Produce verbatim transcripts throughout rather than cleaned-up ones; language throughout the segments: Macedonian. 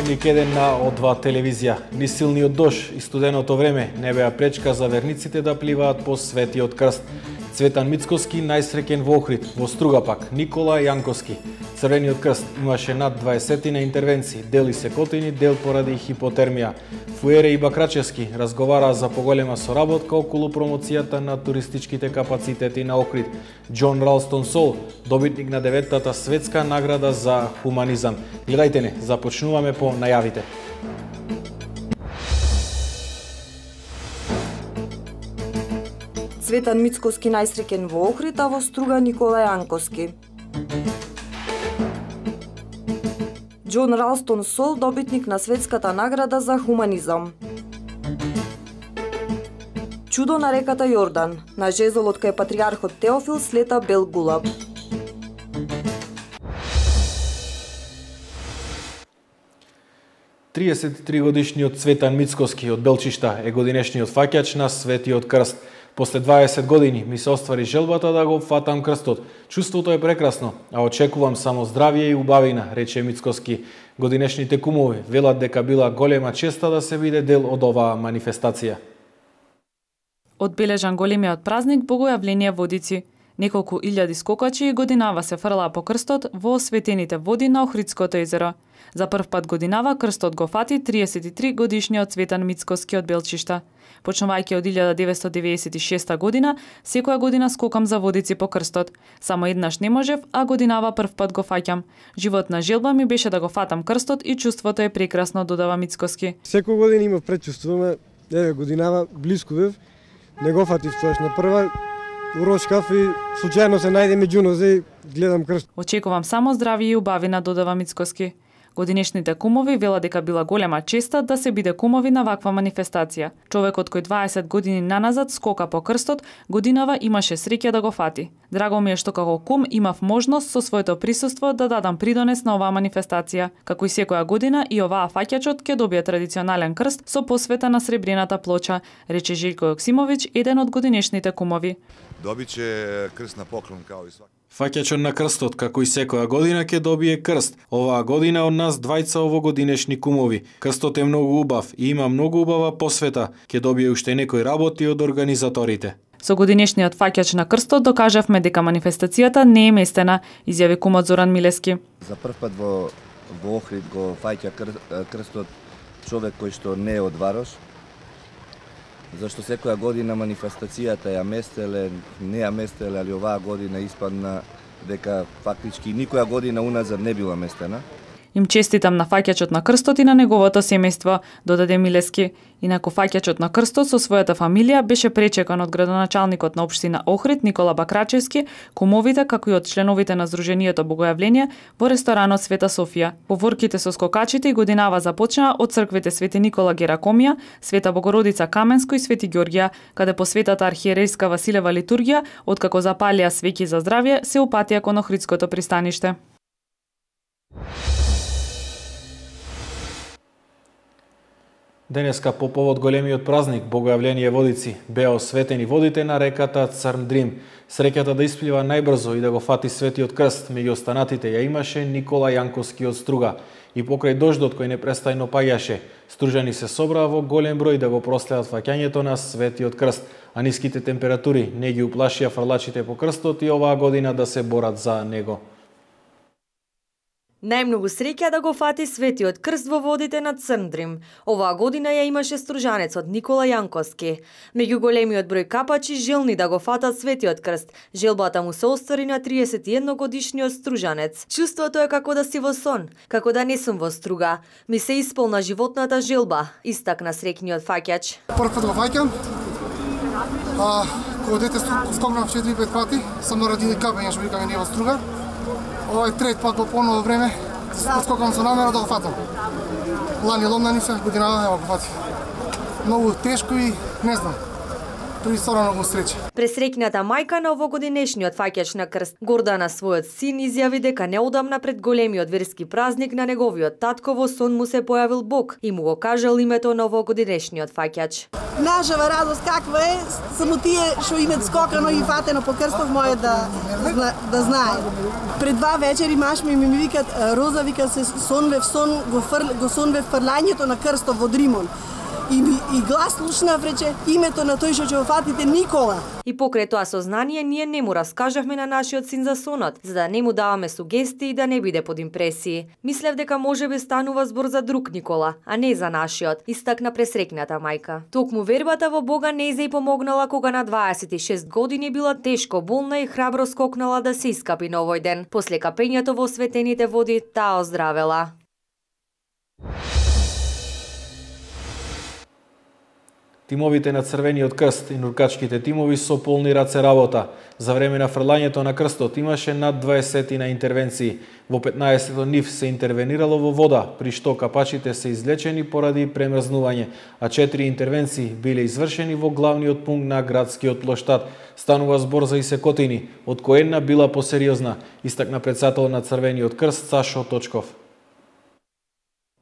Дневник еден на О два телевизија. Ни силниот дош и студеното време не беа пречка за верниците да пливаат по Светиот крст. Цветан Мицкоски најсреќен во Охрид, во Струга пак Никола Јанковски. Црвениот крст имаше над дваесетина интервенции, дел исекотини, дел поради хипотермија. Фуере и Бакрачевски разговараа за поголема соработка околу промоцијата на туристичките капацитети на Охрид. Џон Ралстон Сол, добитник на деветата светска награда за хуманизам. Гледајте не, започнуваме по најавите. Цветан Мицкоски најсреќен во Охрид, а во Струга Никола Јанковски. Џон Ралстон Сол, добитник на светската награда за хуманизам. Чудо на реката Јордан. На жезолот кај патријархот Теофил слета бел гулаб. триесет и три годишниот Цветан Мицкоски од Белчишта е годинешниот фаќач на Светиот крст. После дваесет години ми се оствари желбата да го фатам крстот. Чувството е прекрасно, а очекувам само здравје и убавина, рече Мицкоски. Годинешните кумови велат дека била голема честа да се биде дел од оваа манифестација. Одбележан големиот празник Богојавление Водици. Неколку илјади скокачи годинава се фрлаа по крстот во осветените води на Охридското езеро. За прв пат годинава крстот го фати триесет и три годишниот Цветан Мицкоски од Белчишта. Почнувајќи од илјада деветстотини деведесет и шеста година, секоја година скокам за водици по крстот. Само еднаш не можев, а годинава прв пат го фаќам. Животна желба ми беше да го фатам крстот и чувството е прекрасно, додава Мицкоски. Секоја година имав предчувствуваме, еве годинава блиску бев, не го фатив тоаш на прва, урошкав и случајно се најде меѓу нозе, гледам крст. Очекувам само здравје и убавина, додава Мицкоски. Годинешните кумови вела дека била голема честа да се биде кумови на ваква манифестација. Човекот кој дваесет години наназад скока по крстот, годинава имаше среќа да го фати. Драго ми е што како кум имав можност со своето присуство да дадам придонес на оваа манифестација. Како и секоја година и оваа фаќачот ќе добие традиционален крст со посвета на сребрената плоча, рече Желко Јоксимовиќ, еден од годинешните кумови. Добиче крст на поклон као и сваки. Фаќачот на крстот, како и секоја година, ќе добие крст. Оваа година од нас двајца овогодинешни кумови. Крстот е многу убав и има многу убава посвета. Ќе добие уште некои работи од организаторите. Со годинешниот фаќач на крстот докажавме дека манифестацијата не е местена, изјави кумот Зоран Милески. За прв пат во, во Охрид го фаќа кр, крстот човек кој што не е од Варош. Зашто секоја година манифестацијата ја местеле, не ја местеле, али оваа година испадна дека фактички никоја година уназад не била местена. Им честитам на фаќачот на крстот и на неговото семејство, додаде Милески. Инаку фаќачот на крстот со својата фамилија беше пречекан од градоначалникот на општина Охрид Никола Бакрачевски, кумовите како и од членовите на Сдруженијето Богојавление во ресторанот Света Софија. Поворките со скокачите и годинава започнаа од црквите Свети Никола Геракомија, Света Богородица Каменско и Свети Ѓорѓија, каде по Светата архиерейска Василева литургија, откако запалија свеќи за здравје, се упатија кон Охридското пристаниште. Денеска по повод големиот празник Богојавление Водици беа осветени водите на реката Црн Дрим. Среќата да исплива најбрзо и да го фати Светиот крст меѓу останатите ја имаше Никола Јанковски од Струга. И покрај дождот кој непрестајно паѓаше, стружани се собраа во голем број да го проследат фаќањето на Светиот крст, а ниските температури не ги уплашија фрлачите по крстот и оваа година да се борат за него. Најмногу среќа да го фати Светиот крст во водите на Црн Дрим. Оваа година ја имаше стружанецот Никола Јанковски. Меѓу големиот број капачи желни да го фатат Светиот крст, желбата му се оствари на триесет и едно годишниот стружанец. Чувството е како да си во сон, како да не сум во Струга. Ми се исполна животната желба, истакна среќниот фаќач. Прв пат го фаќам. А, кога дете скокнав четири-пет пати, сам нарадили капење што викаме ние во Струга. Ова е трет пат по поново време, скокам со намера да го фатам. Лани ломна ни се, годинава нема го фати. Многу тешко и не знам. предисторано го среќа. Пресреќната мајка на овогодинешниот фаќач на крст Гордана својот син изјави дека неодамна пред големиот верски празник на неговиот татко во сон му се појавил Бог и му го кажал името на овогодинешниот фаќач. Нашава радост каква е, само тие што имат скокано и фатено по крстов моје да да, да знае. Пред два вечери маш ми ми викат Роза, вика се сонве в сон го фр, го сонве фрлањето на крстов во Дримон. И, и глас слушнав рече името на тој што ќе го фатите Никола. И покрај тоа сознание ние не му раскажавме на нашиот син за сонот, за да не му даваме сугестии и да не биде под импресии. Мислев дека можеби станува збор за друг Никола, а не за нашиот, истакна пресрекната мајка. Токму вербата во Бога не се и помогнала кога на дваесет и шест години била тешко болна и храбро скокнала да се искапи на овој ден. После капењето во светените води таа оздравела. Тимовите на Црвениот крст и нуркачките тимови со полни раце работа. За време на фрлањето на крстот имаше над дваесет на интервенции. Во петнаесет нив се интервенирало во вода, при што капачите се излечени поради премрзнување, а четири интервенции биле извршени во главниот пункт на градскиот плоштад. Станува збор за исекотини, од кој една била посериозна, истакна претседател на Црвениот крст Сашо Точков.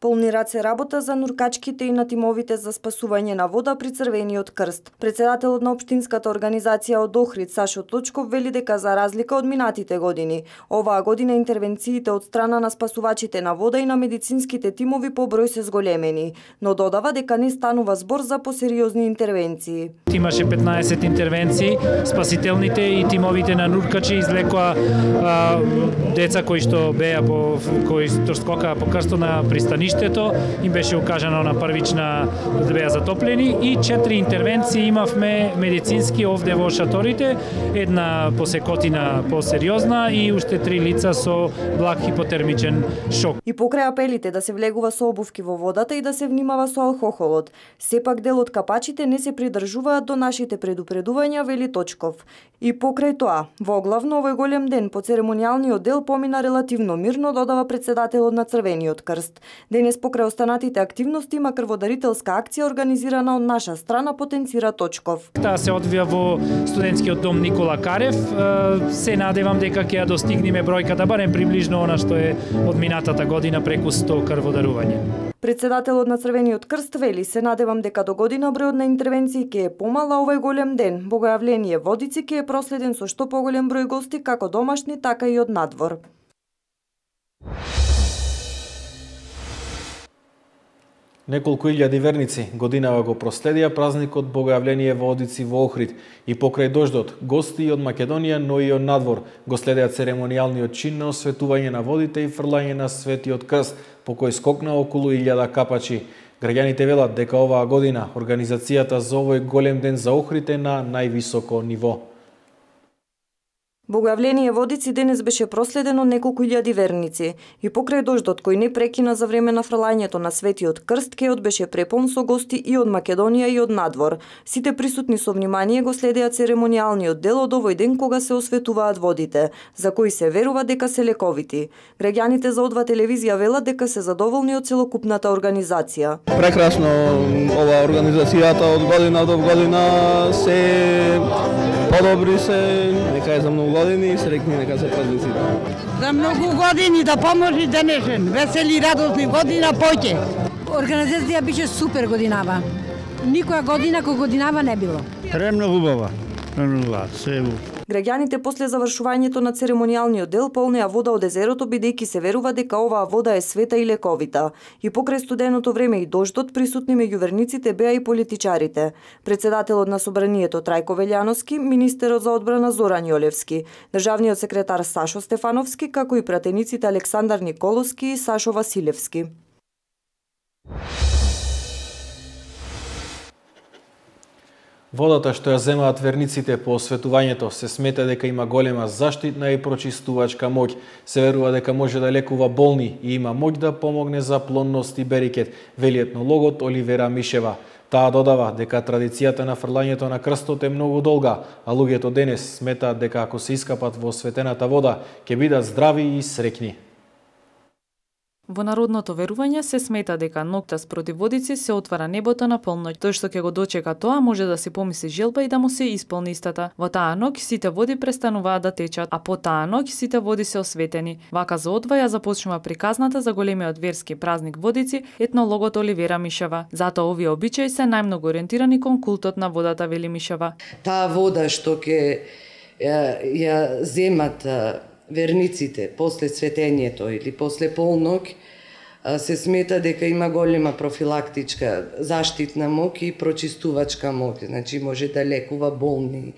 Полни раце работа за нуркачките и на тимовите за спасување на вода при Црвениот крст. Председателот на општинската организација од Охрид Сашо Точков вели дека за разлика од минатите години, оваа година интервенциите од страна на спасувачите на вода и на медицинските тимови по број се зголемени, но додава дека не станува збор за посериозни интервенции. Имаше петнаесет интервенции, спасителните и тимовите на нуркачи излекоа а, деца кои што беа по кои што скокаа по крстот на пристаниште. Им беше укажано на првична да беа затоплени и четири интервенции имавме медицински овде во шаторите, една посекотина посериозна и уште три лица со благ хипотермичен шок. И покрај апелите да се влегува со обувки во водата и да се внимава со алкохолот, сепак дел од капачите не се придржуваат до нашите предупредувања, вели Точков. И покрај тоа, во главно овој голем ден по церемонијалниот дел помина релативно мирно, додава председателот на Црвениот крст. Денес покрај останатите активности има крводарителска акција организирана од наша страна, потенцира Точков. Таа се одвија во студентскиот дом Никола Карев. Се надевам дека ќе ја достигнеме бројката барем приближно она што е од минатата година, преку сто крводарување. Председателот на Црвениот крст вели се надевам дека до година бројот на интервенции ќе е помала овој голем ден. Богојавление Водици ќе е проследен со што поголем број гости, како домашни, така и од надвор. Неколку илјади верници годинава го проследија празникот Богојавление во Водици во Охрид и покрај дождот, гости од Македонија, но и од надвор го следеа церемонијалниот чин на осветување на водите и фрлање на Светиот крст, по кој скокна околу илјада капачи. Граѓаните велат дека оваа година организацијата за овој голем ден за Охрид е на највисоко ниво. Богојавление Водици денес беше проследено неколку илјади верници и покрај дождот кој не прекина за време на фрлањето на Светиот крст, кеот беше препон со гости и од Македонија и од надвор. Сите присутни со внимание го следеа церемонијалниот дел од овој ден кога се осветуваат водите, за кои се верува дека се лековити. Граѓаните за Одва телевизија велат дека се задоволни од целокупната организација. Прекрасно ова организацијата од година до година се подобри се, нека е за многу години и среќни нека се празниците. За многу години да поможи денешен, весели радосни година поќе. Организација беше супер годинава. Никоја година кој годинава не било. Премногу убава. Премногу се. Граѓаните после завршувањето на церемонијалниот дел полнеа вода од езерото, бидејќи се верува дека оваа вода е света и лековита. И покрај студеното време и дождот, присутни меѓу верниците беа и политичарите. Председателот на собранието Трајко Велјановски, министерот за одбрана Зоран Јолевски, државниот секретар Сашо Стефановски, како и пратениците Александар Николовски и Сашо Василевски. Водата што ја земаат верниците по осветувањето се смета дека има голема заштитна и прочистувачка моќ. Се верува дека може да лекува болни и има моќ да помогне за плонност и берикет, вели етнологот Оливера Мишева. Таа додава дека традицијата на фрлањето на крстот е многу долга, а луѓето денес сметаат дека ако се искапат во осветената вода, ќе бидат здрави и среќни. Во народното верување се смета дека ноќта спроти водици се отвара небото на полноќ. Тој што ќе го дочека тоа може да си помисли желба и да му се исполни истата. Во таа ноќ сите води престануваат да течат, а по таа ноќ сите води се осветени. Вака за одваја започнува приказната за големиот верски празник водици, етнологот Оливера Мишева. Затоа овие обичаи се најмногу ориентирани кон култот на водата, вели Мишева. Таа вода што ќе ја, ја земат верниците после светењето или после полноќ, се смета дека има голема профилактичка заштитна моќ и прочистувачка моќ, значи може да лекува болни.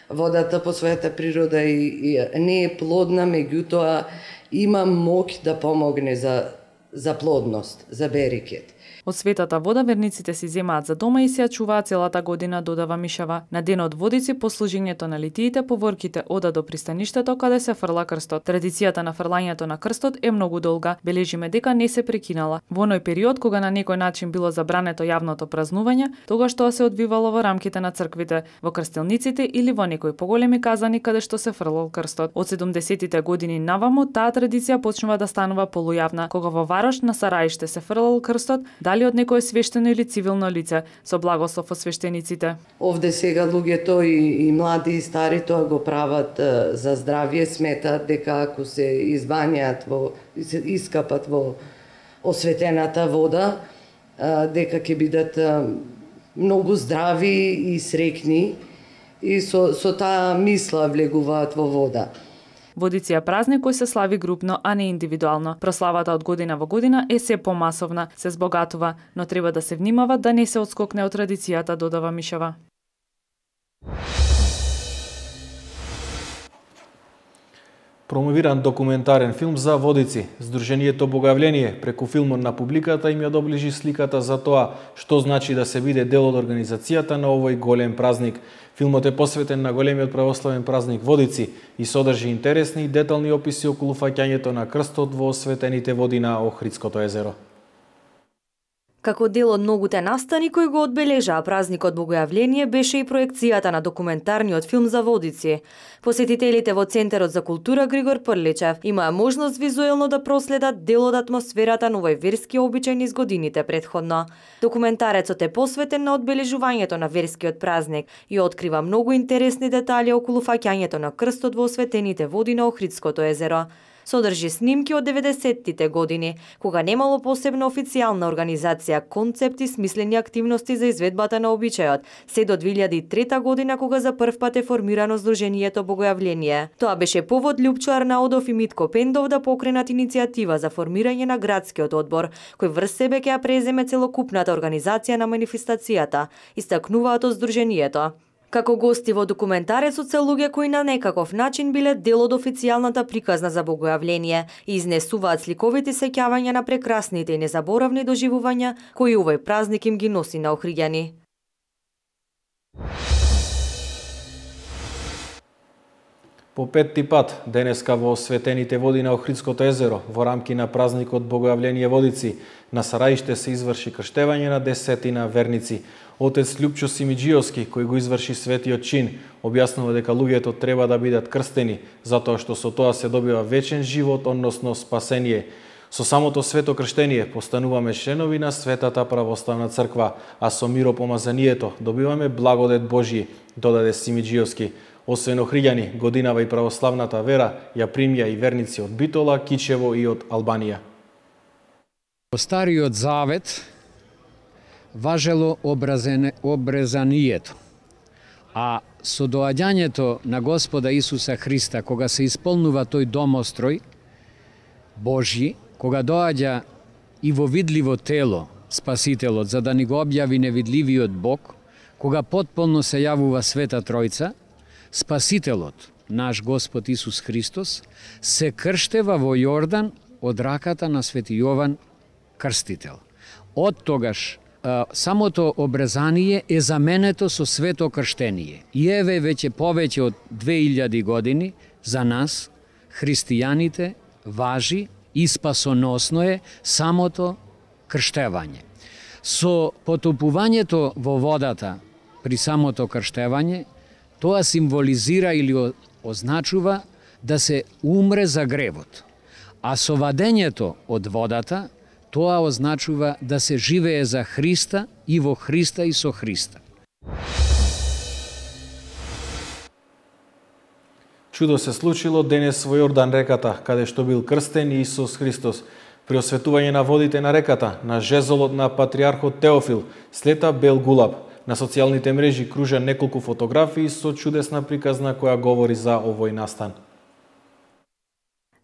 Водата по својата природа и, и не е плодна, меѓутоа има моќ да помогне за за плодност, за берекет. Од светата вода верниците си земаат за дома и се ја чуваат целата година, додава Мишева. На денот водици по служењето на литиите поворките ода до пристаништето каде се фрла крстот. Традицијата на фрлањето на крстот е многу долга. Бележиме дека не се прекинала. Во оној период кога на некој начин било забрането јавното празнување, тогаш тоа се одвивало во рамките на црквите, во крстилниците или во некои поголеми казани каде што се фрлал крстот. Од седумдесетите години наваму таа традиција почнува да станува полујавна, кога во Варош на Сараиште се фрлал крстот, дали од некое свештено или цивилно лице со благослов од свештениците. Овде сега луѓето и, и млади и стари тоа го прават е, за здравје, сметаат дека ако се избањаат во се искапат во осветената вода, е, дека ќе бидат е, многу здрави и среќни и со со таа мисла влегуваат во вода. Водици е празник кој се слави групно, а не индивидуално. Прославата од година во година е се помасовна, се збогатува, но треба да се внимава да не се отскокне од традицијата, додава Мишева. Промовиран документарен филм за водици. Сдруженијето Богојавление преку филмот на публиката им ја доближи сликата за тоа што значи да се биде дел од организацијата на овој голем празник. Филмот е посветен на големиот православен празник Водици и содржи интересни и детални описи околу фаќањето на крстот во осветените води на Охридското езеро. Како дел од многуте настани кои го одбележаа празникот Богојавление беше и проекцијата на документарниот филм за водици. Посетителите во Центарот за култура Григор Прличев имаа можност визуелно да проследат дел од атмосферата на овој верски обичај низ годините претходно. Документарецот е посветен на одбележувањето на верскиот празник и открива многу интересни детали околу фаќањето на крстот во осветените води на Охридското езеро. Содржи снимки од деветдесеттите години, кога немало посебна официјална организација, концепти, смислени активности за изведбата на обичајот, се до две илјади и трета година кога за прв пат е формирано Сдруженијето Богојавление. Тоа беше повод Лјупчо Арнаудов и Митко Пендов да покренат иницијатива за формирање на градскиот одбор, кој врз себе ќе ја преземе целокупната организација на манифестацијата, истакнуваат од Сдруженијето. Како гости во документарецот се луѓе кои на некаков начин биле дел од официјалната приказна за Богојавление и изнесуваат сликовити сеќавања на прекрасните и незаборавни доживувања кои овој празник им ги носи на охриѓани. По петти пат денеска во осветените води на Охридското езеро во рамки на празникот Богојавление Водици на Сараиште се изврши крштевање на десетина верници. Отец Лјупчо Симиџиовски, кој го изврши светиот чин, објаснува дека луѓето треба да бидат крстени, затоа што со тоа се добива вечен живот, односно спасение. Со самото свето крштение постануваме членови на Светата православна црква, а со миропомазанието добиваме благодет Божји, додаде Симиџиовски. Освен охриѓани, годинава и православната вера ја примја и верници од Битола, Кичево и од Албанија. Во Стариот Завет важело обрезанието, а со доаѓањето на Господа Исуса Христа, кога се исполнува тој домострој Божји, кога доаѓа и во видливо тело Спасителот, за да ни го објави невидливиот Бог, кога потполно се јавува Света Тројца, Спасителот, наш Господ Исус Христос, се крштева во Јордан од раката на Свети Јован Крстител. Од тогаш самото обрезание е заменето со свето крштение. И еве веќе повеќе од две илјади години за нас, христијаните, важи и спасоносно е самото крштевање. Со потопувањето во водата при самото крштевање, тоа символизира или означува да се умре за гревот. А со вадењето од водата, тоа означува да се живее за Христа и во Христа и со Христа. Чудо се случило денес во Јордан реката, каде што бил крстен Исус Христос. При осветување на водите на реката, на жезолот на патриархот Теофил, слета бел гулаб. На социјалните мрежи кружа неколку фотографии со чудесна приказна која говори за овој настан.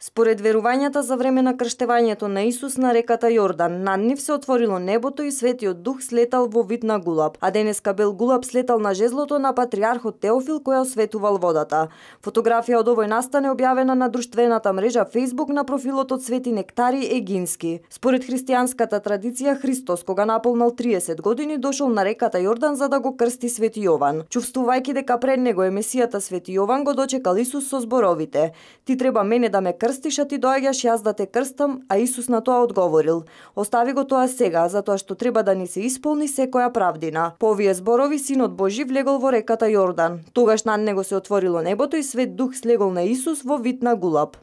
Според верувањата за време на крштевањето на Исус на реката Јордан, над нив се отворило небото и Светиот Дух слетал во вид на гулаб, а денеска бел гулаб слетал на жезлото на патриархот Теофил кој осветувал водата. Фотографија од овој настан е објавена на друштвената мрежа Facebook на профилот од Свети Нектари Егински. Според христијанската традиција, Христос кога наполнал триесет години дошол на реката Јордан за да го крсти Свети Јован. Чувствувајќи дека пред него е Месијата Свети Јован, го дочекал Исус со зборовите: "Ти треба мене да ме крстиш, а ти доаѓаш јас да те крстам", а Исус на тоа одговорил: "Остави го тоа сега, затоа што треба да ни се исполни секоја правдина." По овие зборови Синот Божи влегол во реката Јордан. Тогаш над него се отворило небото и Свет Дух слегол на Исус во вид на гулаб.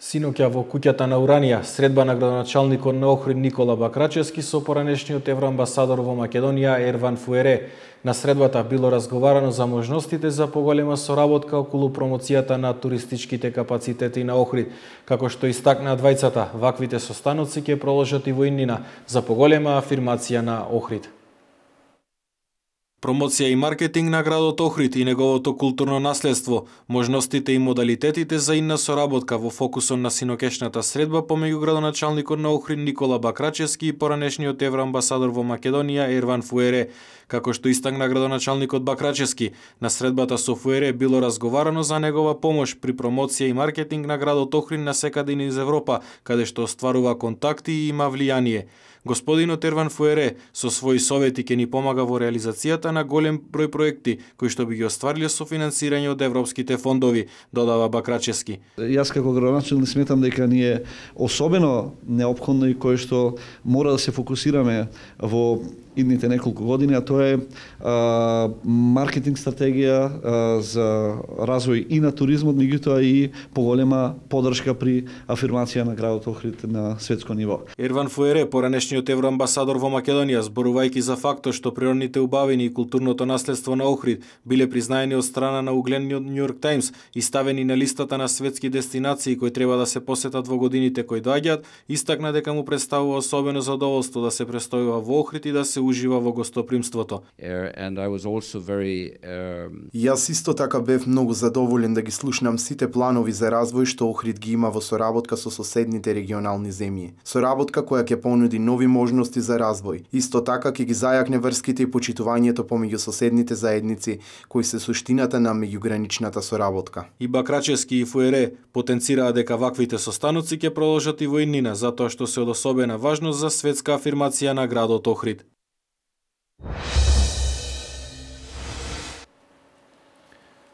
Синоќа во куќата на Уранија, средба на градоначалникот на Охрид Никола Бакрачевски со поранешниот евроамбасадор во Македонија Ерван Фуере. На средбата било разговарано за можностите за поголема соработка околу промоцијата на туристичките капацитети на Охрид. Како што истакна двајцата, ваквите состаноци ќе проложат и во иднина за поголема афирмација на Охрид. Промоција и маркетинг на градот Охрид и неговото културно наследство, можностите и модалитетите за идна соработка во фокусот на синокешната средба помеѓу градоначалникот на Охрид Никола Бакрачевски и поранешниот евроамбасадор во Македонија Ерван Фуере. Како што истакна градоначалникот Бакрачевски, на средбата со Фуере било разговарано за негова помош при промоција и маркетинг на градот Охрид насекаде низ Европа, каде што остварува контакти и има влијание. Господинот Ерван Фуере со своји совети ќе ни помага во реализацијата на голем број проекти кои што би ги оствариле со финансирање од европските фондови, додава Бакрачевски. Јас како градоначалник сметам дека ни е особено неопходно и кое што мора да се фокусираме во идните неколку години, а тоа е а, маркетинг стратегија а, за развој и на туризмот, меѓутоа и поголема поддршка при афирмација на градот Охрид на светско ниво. Ерван Фуере, поранешниот евроамбасадор во Македонија, зборувајќи за фактот што природните убавини и културното наследство на Охрид биле признаени од страна на угледниот Нью Йорк Таймс и ставени на листата на светски дестинации кои треба да се посетат во годините кои доаѓаат, истакна дека му представува особено задоволство да се престојува во Охрид и да се ужива во гостопримството. And I was also very, um... Јас исто така бев многу задоволен да ги слушнам сите планови за развој што Охрид ги има во соработка со соседните регионални земји. Соработка која ќе понуди нови можности за развој. Исто така ќе ги зајакне врските и почитувањето помеѓу соседните заедници кои се суштината на меѓуграничната соработка. И Бакрачевски и Фуере потенцираа дека ваквите состаноци ќе продолжат и во иднина, затоа што се од особена важност за светска афирмација на градот Охрид.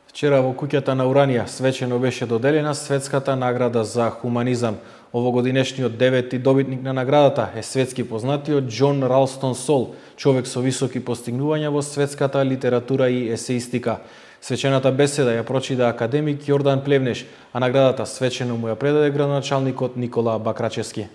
Вчера во куќата на Уранија свечено беше доделена светската награда за хуманизам. Овогодинешниот девети добитник на наградата е светски познатиот Џон Ралстон Сол, човек со високи постигнувања во светската литература и есеистика. Свечената беседа ја прочита академик Јордан Плевнеш, а наградата свечено му ја предаде градоначалникот Никола Бакрачевски.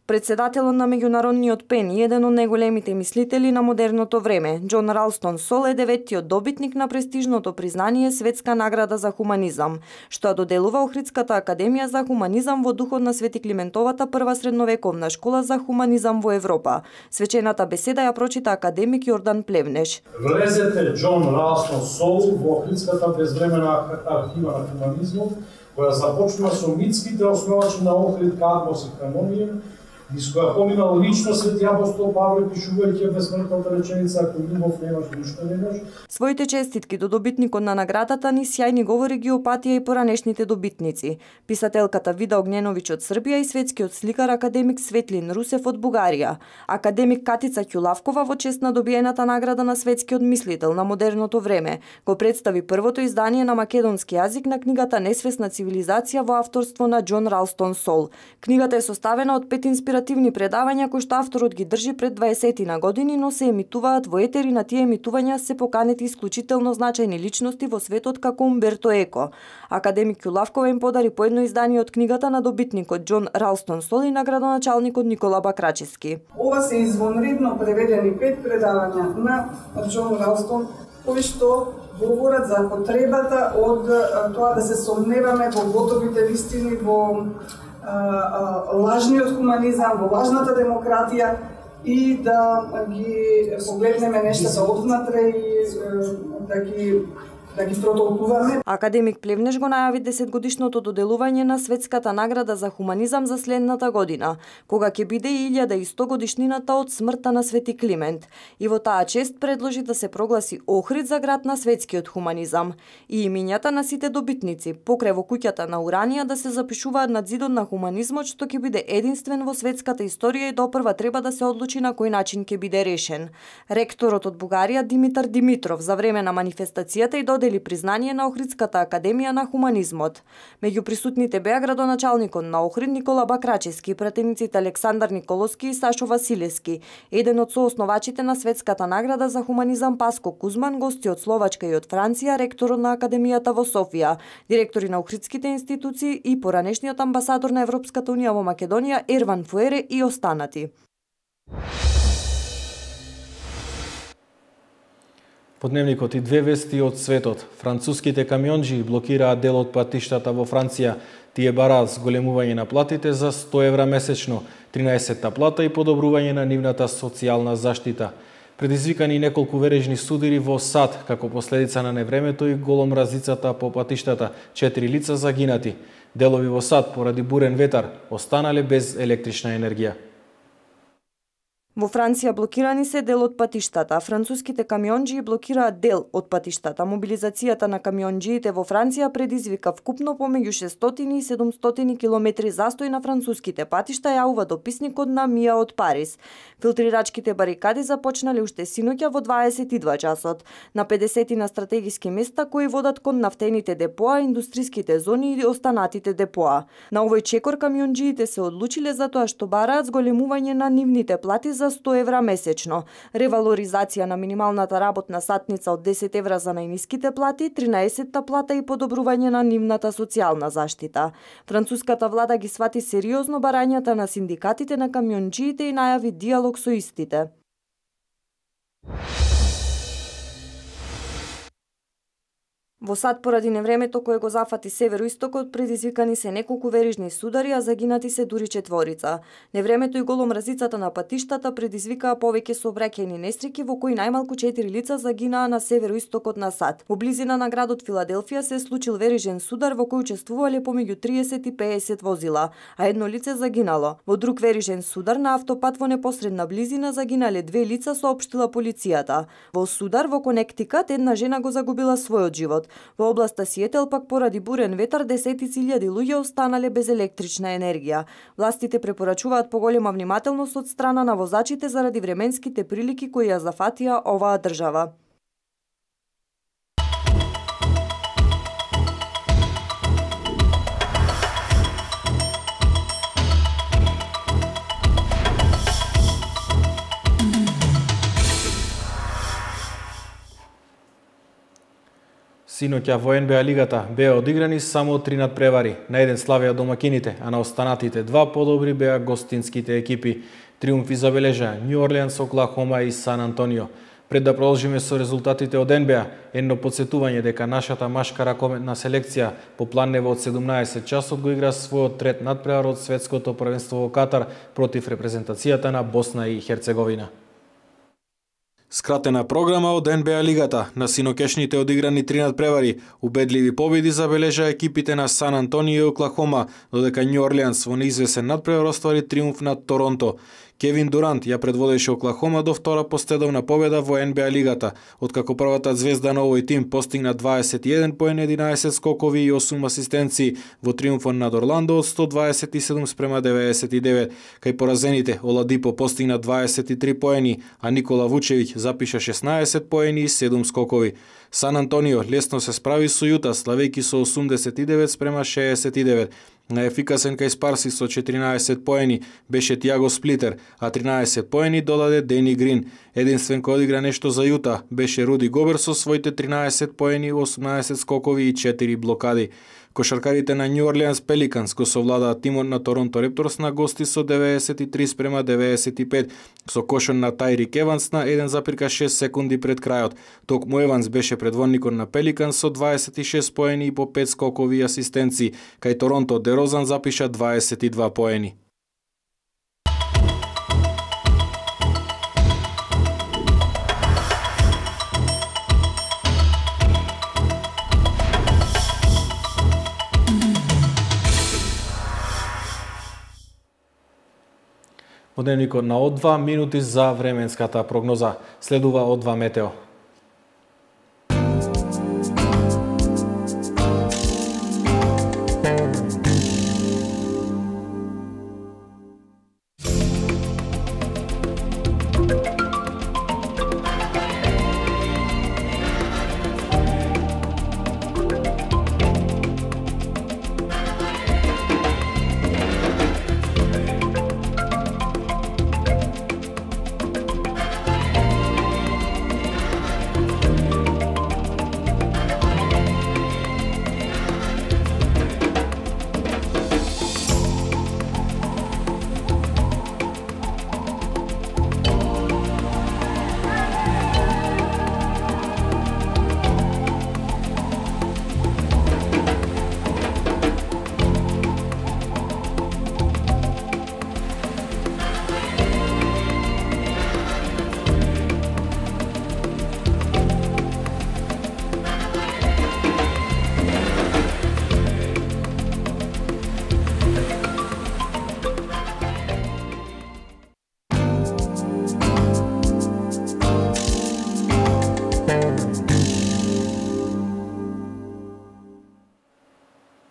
Председателот на меѓународниот ПЕН и еден од најголемите мислители на модерното време, Џон Ралстон Сол е деветиот добитник на престижното признание Светска награда за хуманизам, што доделува Охридската академија за хуманизам во духот на Свети Климентовата прва средновековна школа за хуманизам во Европа. Свечената беседа ја прочита академик Јордан Плевнеш. Влезете Џон Ралстон Сол во Охридската безвремена архива на хуманизмот, која започнува со митските основачи на Охрид, Кадмос и Хамонија, низ која поминал лично свети апостол Павле, пишувајќи безсмртната реченица "Ако љубов немаш, ништо немаш". Своите честитки до добитникот на наградата ни сјајни говори ги опатија и поранешните добитници. Писателката Вида Огненовиќ од Србија и светскиот сликар академик Светлин Русев од Бугарија. Академик Катица Ќулавкова во чест на добиената награда на светскиот мислител на модерното време го представи првото издание на македонски јазик на книгата Несвесна цивилизација во авторство на Џон Ралстон Сол. Книгата е составена од пет инспиративни интеративни предавања кои што авторот ги држи пред дваесет на години, но се емитуваат во етер и на тие емитувања се поканети исклучително значајни личности во светот како Умберто Еко. Академик Јулавкова им подари по едно издание од книгата на добитникот Џон Ралстон Сол и на градоначалникот Никола Бакрачевски. Ова се извонредно преведени пет предавања на Џон Ралстон кои што говорат за потребата од тоа да се сомневаме во готовите вистини, во а, а, лажниот хуманизам, во лажната демократија и да ги погледнеме нештата однатре и да ги да ги протолкуваме. Академик Плевнеш го најави десетгодишното доделување на Светската награда за хуманизам за следната година, кога ќе биде и илјада и сто годишнината од смртта на Свети Климент. И во таа чест предложи да се прогласи Охрид за град на светскиот хуманизам. И имињата на сите добитници, покрај во куќата на Уранија, да се запишуваат над зидот на хуманизмот, што ќе биде единствен во светската историја и допрва треба да се одлучи на кој начин ќе биде решен. Ректорот од Бугарија Димитар Димитров за време на манифестацијата и додели признание на Охридската академија на хуманизмот. Меѓу присутните беа градоначалникот на Охрид Никола Бакрачевски, пратениците Александар Николовски и Сашо Василевски, еден од соосновачите на Светската награда за хуманизам Паско Кузман, гости од Словачка и од Франција, ректорот на академијата во Софија, директори на охридските институции и поранешниот амбасадор на Европската унија во Македонија Ерван Фуере и останати. По дневникот и две вести од светот. Француските камионџи блокираат дел од патиштата во Франција. Тие бараат зголемување на платите за сто евра месечно, тринаесетта плата и подобрување на нивната социјална заштита. Предизвикани неколку вережни судири во Сад, како последица на невремето и голомразицата по патиштата, четири лица загинати. Делови во Сад поради бурен ветар останале без електрична енергија. Во Франција блокирани се дел од патиштата. Француските камионџи блокираат дел од патиштата. Мобилизацијата на камионџиите во Франција предизвика вкупно помеѓу шестстотини и седумстотини километри застој на француските патишта, јавува дописникот на Мија од Париз. Филтрирачките барикади започнале уште синоќа во дваесет и два часот. На педесет на стратегиски места кои водат кон нафтените депоа, индустриските зони и останатите депоа. На овој чекор камионџиите се одлучиле за тоа што бараат зголемување на нивните плати за сто евра месечно, ревалоризација на минималната работна сатница од десет евра за најниските плати, тринаесетта плата и подобрување на нивната социјална заштита. Француската влада ги свати сериозно барањата на синдикатите на камионџиите и најави диалог со истите. Во Сад поради невремето кое го зафати североистокот предизвикани се неколку верижни судари, а загинати се дури четворица. Невремето и голомразицата на патиштата предизвикаа повеќе сообраќајни несреќи во кои најмалку четири лица загинаа на североистокот на Сад. Во близина на градот Филаделфија се случил верижен судар во кој учествувале помеѓу триесет и пеесет возила, а едно лице загинало. Во друг верижен судар на автопат во непосредна близина загинале две лица, соопштила полицијата. Во судар во Конектикат една жена го загубила својот живот. Во областа Сиетел пак поради бурен ветар десетици илјади луѓе останале без електрична енергија. Властите препорачуваат поголема внимателност од страна на возачите заради временските прилики кои ја зафатија оваа држава. Синоќа во Ен Бе А лигата беа одиграни само три надпревари. На еден славеа домакините, а на останатите два подобри беа гостинските екипи. Триумфи забележаа Њу Орлеанс, Оклахома и Сан Антонио. Пред да продолжиме со резултатите од Ен Бе А, едно подсетување дека нашата машка ракометна селекција по планево од седумнаесет часот го игра својот трет надпревар од светското првенство во Катар против репрезентацијата на Босна и Херцеговина. Скратена програма од Ен Бе А лигата. На синокешните одиграни три надпревари, убедливи победи забележа екипите на Сан Антонио и Оклахома, додека Њу Орлеанс во неизвесен надпревар оствари триумф над Торонто. Кевин Дурант ја предводеше Оклахома до втора последовна победа во Ен Бе А лигата, откако првата звезда на овој тим постигна дваесет и еден поени, единаесет скокови и осум асистенции во триумфот над Орландо од сто дваесет и седум спрема деветдесет и девет. Кај поразените Оладипо постигна дваесет и три поени, а Никола Вучевиќ запиша шеснаесет поени и седум скокови. Сан Антонио лесно се справи со Јута, славејќи со осумдесет и девет спрема шеесет и девет. Најефикасен кај Спарси со четиринаесет поени беше Тиаго Сплитер, а тринаесет поени додаде Дени Грин. Единствен кој одигра нешто за Јута беше Руди Гобер со своите тринаесет поени, осумнаесет скокови и четири блокади. Кошаркарите на Нью Орлеанс Пеликанс го совладаа тимот на Торонто Репторс на гости со деветдесет и три спрема деветдесет и пет, со кошон на Тайрик Еванс на еден запирка шест секунди пред крајот. Токму Еванс беше предводникот на Пеликанс со дваесет и шест поени и по пет скокови и асистенции, кај Торонто Дерозан запиша дваесет и два поени. Во дневникот на О два минути за временската прогноза. Следува О два метео.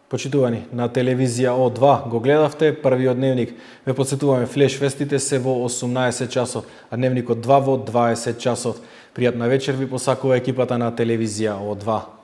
Почитувани, на телевизија О два го гледавте првиот дневник. Ве подсетуваме, флеш вестите се во осумнаесет часот, а дневникот два во дваесет часот. Пријатна вечер ви посакува екипата на телевизија О два.